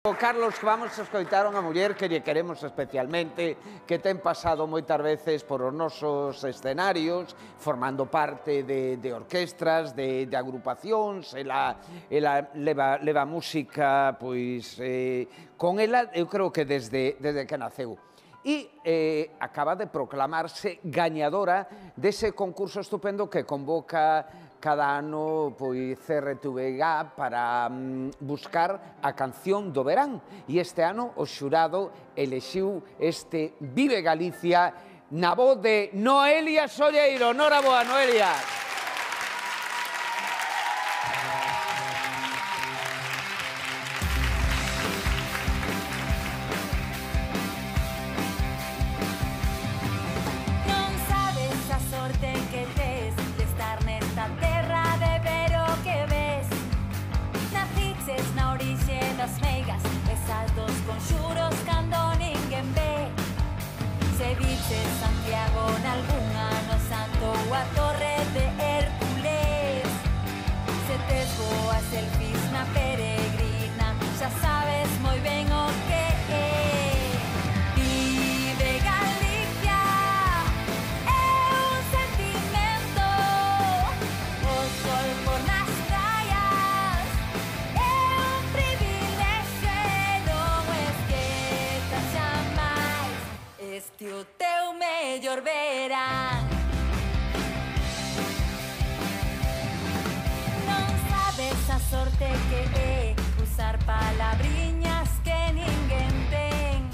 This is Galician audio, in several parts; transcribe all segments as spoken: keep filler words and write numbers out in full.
Carlos, vamos a escoitar unha muller que lle queremos especialmente, que ten pasado moitas veces por os nosos escenarios, formando parte de, de orquestras, de, de agrupacións, ela, ela leva, leva música, pois, eh, con ela, eu creo que desde, desde que naceu. E eh, acaba de proclamarse gañadora dese concurso estupendo que convoca cada ano pois C R T V G para mm, buscar a canción do verán. E este ano o xurado elexiu este Vive Galicia na voz de Noelia Solleiro. Noraboa, Noelia. Non sabes a sorte que tes de estar nesta terra, de ver o que ves. Naciches na orixe das meigas, esas dos conxuros cando ninguén ve. Se viches Santiago nalgún ano santo ou a Torre de Hércules, se tes boas selfies na peregrina, xa sabes moi ben o que é. Vive Galicia, é un sentimento, o sol por nas praias, é un privilexio e non esquezas xamais este o teu mellor verán. Non sabes a sorte que é usar palabriñas que ninguén ten.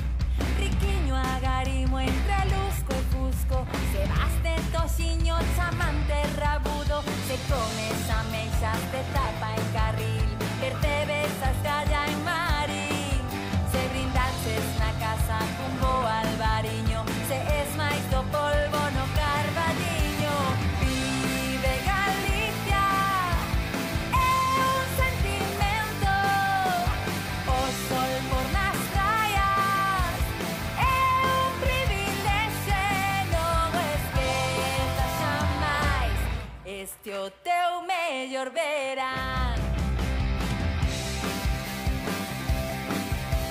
Riquiño agarimo entre lusco e fusco, se vas de toxiño chamante rabudo, se comes ameixas de tapa en carril, percebes a escalla en marín, se brindaches na casa cun bo albariño, se es máis do polvo no carballiño. Vive Galicia, é un sentimento, o sol por nas praias, é un privilexio e non esquezas xamais este o teu mellor verán.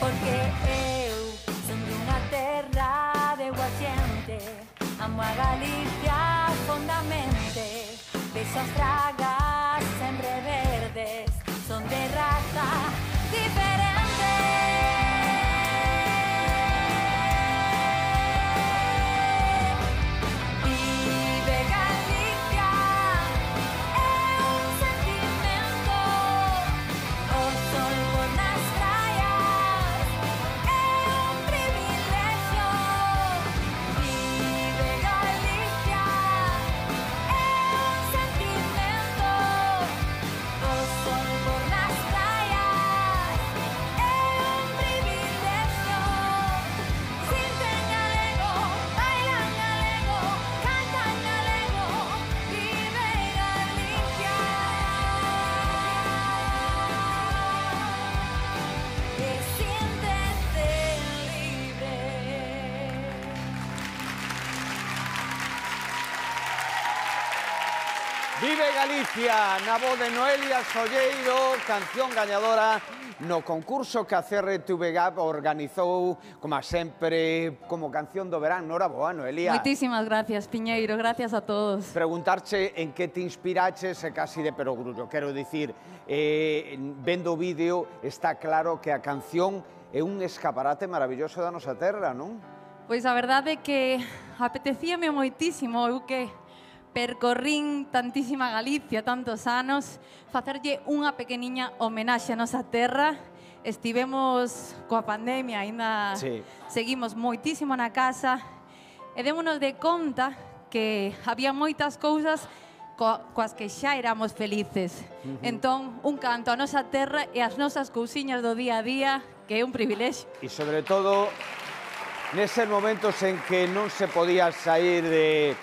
Porque eu son dunha terra de boa xente, amo a Galicia fondamente, vexo as tragas sempre verdes, son de raza diferente. Vive Galicia, é un sentimento, o sol por nas praias, é un privilexio. Vive Galicia, é un sentimento, o sol por nas praias, é un privilexio. Sinten galego, bailan galego, cantan galego, vive Galicia. E siéntete libre. Vive Galicia, na voz de Noelia Solleiro, canción gañadora no concurso que a C R T V G organizou, como sempre, como canción do verán. Noraboa, Noelia. Moitísimas gracias, Piñeiro, gracias a todos. Preguntarche en que te inspiraches é casi de perogrullo. Quero dicir, eh, vendo o vídeo está claro que a canción é un escaparate maravilloso da nosa terra, non? Pois a verdade é que apetecíame moitísimo, eu que percorrín tantísima Galicia, tantos anos, facerlle unha pequeniña homenaxe a nosa terra. Estivemos coa pandemia, aínda Sí. seguimos moitísimo na casa e démonos de conta que había moitas cousas co coas que xa éramos felices. Uh-huh. Entón, un canto a nosa terra e as nosas cousiñas do día a día, que é un privilexio. E sobre todo, neses momentos en que non se podía sair de,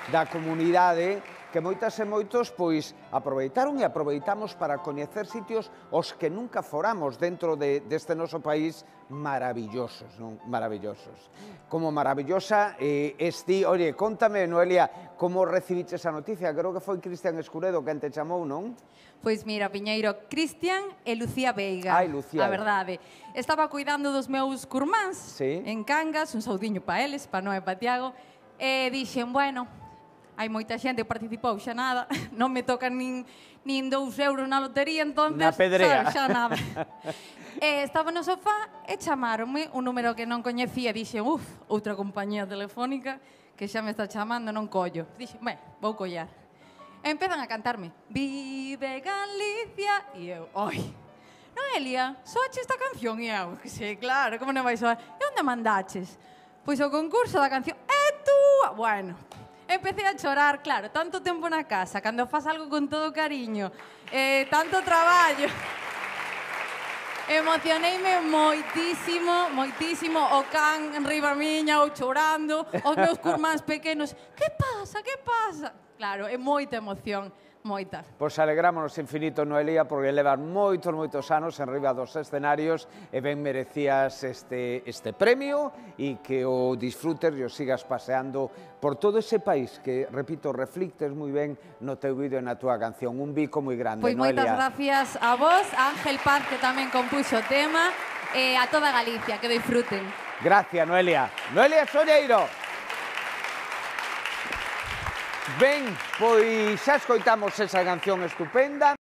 da comunidade, que que moitas e moitos pois aproveitaron e aproveitamos para coñecer sitios os que nunca foramos dentro de, deste noso país maravillosos, non? Maravillosos. Como maravillosa eh, esti, oye, contame, Noelia, como recibiche esa noticia? Creo que foi Cristian Escuredo quen te chamou, non? Pois mira, Piñeiro, Cristian e Lucía Veiga. Ai, Lucía. A verdade. Estaba cuidando dos meus curmáns sí. en Cangas, un saudiño pa eles, pa Noé e pa Tiago, e dixen, bueno, hai moita xente que participou, xa nada, non me tocan nin, nin dous euros na lotería, entonces, na pedrea. Sabes, xa nada. E estaba no sofá e chamaronme un número que non coñecía, dixen, uf, outra compañía telefónica que xa me está chamando, non collo. Dixen, ben, vou collar. E empezan a cantarme, Vive Galicia, e eu, oi, Noelia, soache esta canción? E eu, que sei, claro, como non vai soar? E onde mandaches? Pois o concurso da canción, é túa! Bueno, empecé a chorar, claro, tanto tempo na casa, cando faz algo con todo cariño, eh, tanto traballo. Emocioneime moitísimo, moitísimo, o can en riba miña, ou chorando, os meus curmáns pequenos, que pasa, que pasa? Claro, é moita emoción, moita. Pois alegrámonos infinito, Noelia, porque levas moitos, moitos anos en riba dos escenarios e ben merecías este, este premio e que o disfrutes e o sigas paseando por todo ese país que, repito, reflictes moi ben no teu vídeo e na túa canción. Un bico moi grande, pois Noelia. Pois moitas gracias a vos, a Ángel Paz, que tamén compuxo o tema, e a toda Galicia, que disfruten. Gracias, Noelia. Noelia Solleiro. Ben, pois xa escoitamos esa canción estupenda.